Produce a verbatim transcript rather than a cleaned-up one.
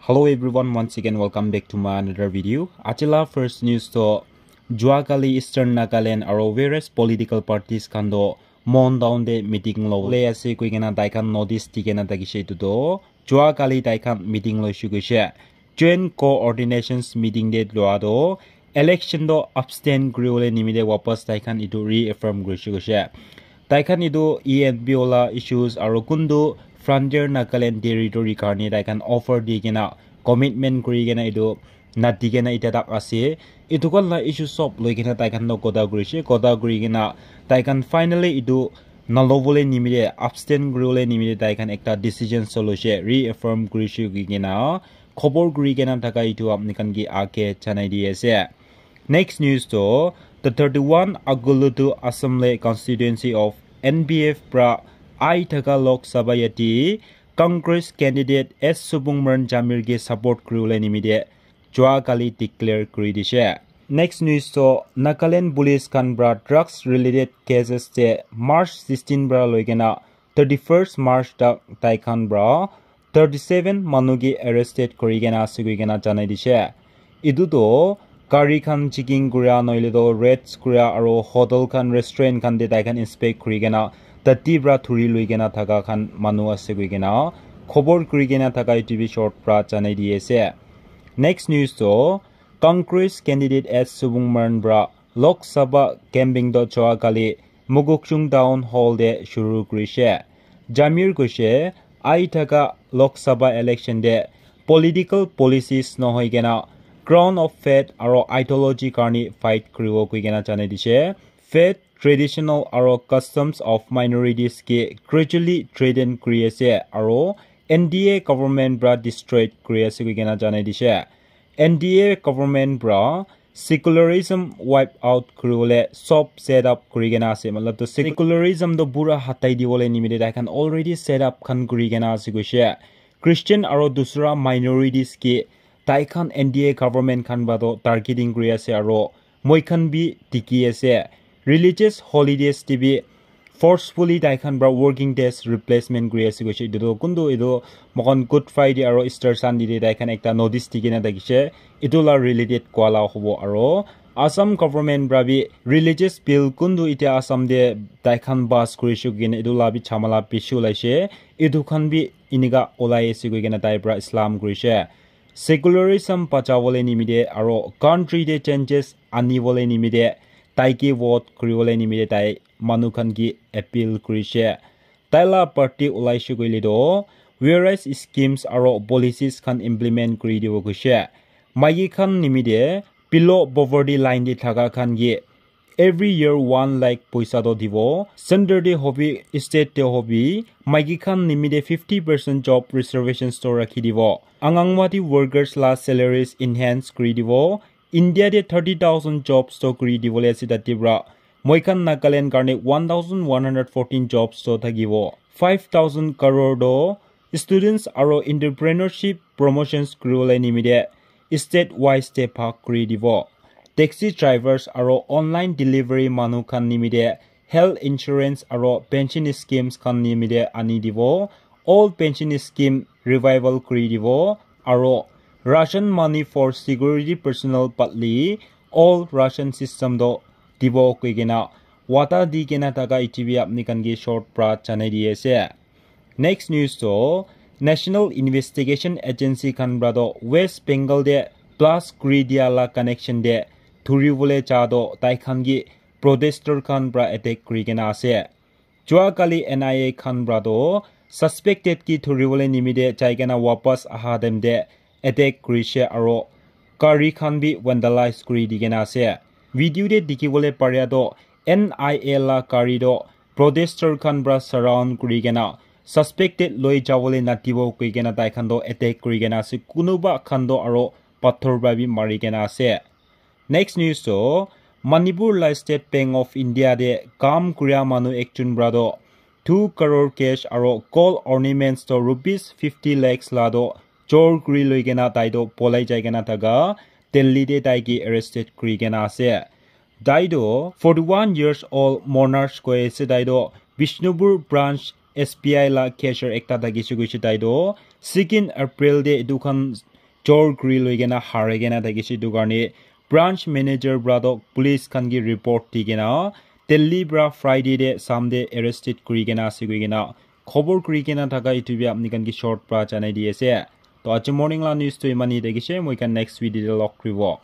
Hello everyone, once again welcome back to my another video. Ajila first news to jua kali Eastern Nagaland aro various political parties khan to Mon Town te meeting lo le ase koi kena tai khan notice di kena thakishe. Etu to jua kali tai khan meeting loishe koishe. Joint coordinations meeting te lua to election to abstain kuri bole nimite wapas tai khan etu reaffirm kurishe koishe. Tai khan etu E N P O la issues aro kuntu Frontier Nagaland territory karne tai khan offer di kena commitment kuri kena etu nadi kena itya tak ase. Etu khan la issue sob loi kena tai khan toh kotha kurishe, kotha kuri kena tai khan finally etu nalo bole nimite, abstain kuri bole nimite tai khan ekta decision so loishe, reaffirm kurishe koi kena khobor kuri kena thaka etu apni khan ke age janai di ase. Next news to the thirty-one Agulutu Assembly Constituency of N P F pra ai thaka Lok Sabha yati Congress candidate S Subung Maran Jamir ke support kuri bole nimite jua kali declare kuri dishe. Next news to Nagaland police khan pra drugs related cases te March sixteen pra loi kena thirty-first March tak tai khan pra thirty-seven manu ke arrested kuri kena ase koi kena janai dishe. Etu to gari khan checking kura noile to raids kura aro hotel khan restaurant khan te tai khan inspect kuri kena tati pra thuri lui kena thaka khan manu ase koi kena khobor kuri kena thaka etu bi short pra janai di ase. Next news to Congress candidate S Subung Maran pra Lok Sabha campaign to jua kali Mokokchung Town Hall te shuru kurishe. Jamir koishe ai thaka Lok Sabha election te political policies nohoi kena ground of faith aro ideology karne fight kuribo koi kena janai dishe. Faith, traditional aro customs of minorities ke gradually threaten kuri ase aro N D A government pra destroy kuri ase koi kena janai dishe. N D A government pra secularism wipe out kuri bole sob set up kuri kena ase. Matlab to secularism to pura hatai di bole nimite tai khan already set up khan kuri kena ase koishe. Christian aro dusra minorities ke tai khan N D A government khan pra to targeting kuri ase aro moi khan bi dikhi ase religious holidays te bi forcefully tai khan pra working days replacement kuri ase koishe. Etu to kuntu etu moikhan Good Friday aro Easter Sunday te tai khan ekta notice di kena thakishe. Etu la related kua la hobo aro Assam government pra bi religious bill kuntu itya Assam te tai khan pass kurishe koi kena etu la bi jhamala bishi ulaishe. Etu khan bi enika ulai ase koi kena tai pra Islam kurishe. Secularism bachabole nimite aro country te changes anibole nimite tai ke vote kuribole nimite tai manu khan ke appeal kurishe. Tai la party ulaishe koile toh various schemes aro policies khan implement kuri dibo koishe. Maiki khan nimite below poverty line te thaka khan ke every year one lakh poisa toh dibo. Center te hobi, state te hobi, maiki khan nimite fifty percent job reservations toh rakhi dibo. Anganwadi workers la salaries enhance kuri dibo. India te thirty thousand jobs toh kuri dibole ase tate pra. Moi khan Nagaland karne one thousand one hundred fourteen jobs toh thakibo. Five thousand crore toh students aro entrepreneurship promotions kuribole nimite state wise te bhag kuri dibo. Taxi drivers aro online delivery manu khan nimite health insurance aro pension schemes khan nimite ani dibo. All pension scheme revival kuri dibo aro ration money for security personnel badli all ration system toh dibo koi kena wada di kena thaka etu bi apni khan ke short pra janai di ase. Next news toh National Investigation Agency khan pra toh West Bengal te blast kuri dia la connection te dhuribole ja toh tai khan ke protester khan pra attack kuri kena ase. Jua kali N I A khan pra toh suspected ke dhuribole nimite jai kena wapas aha time te attack kurishe aro gari khan bi vandalize kuri di kena ase. Video te dikhibole paria toh N I A la gari toh protester khan pra surround kuri kena suspected loi jabole nadibo koi kena tai khan toh attack kuri kena ase. Kunuba khan toh aro pathor pra bi mari kena ase. Next news toh Manipur la State Bank of India te kam kuria manu ekjon pra toh two crore cash aro gold ornaments toh rupees fifty lakhs la toh chor kuri loi kena tai toh polai jai kena thaka Delhi te tai ke arrested kuri kena ase. Tai toh forty-one years old Monarch koi ase, tai toh Bishnupur branch S B I la cashier ekta thakishe koishe. Tai toh Second April te etu khan chor kuri loi kena harai kena thakishe, etu karne branch manager para toh police khan ke report di kena Delhi para Friday te sham te arrested kuri kena ase koi kena khobor kuri kena thaka etu bi apni khan ke short para janai di ase. To aji morning la news to imani thakishe, moi khan next video te log kuribo.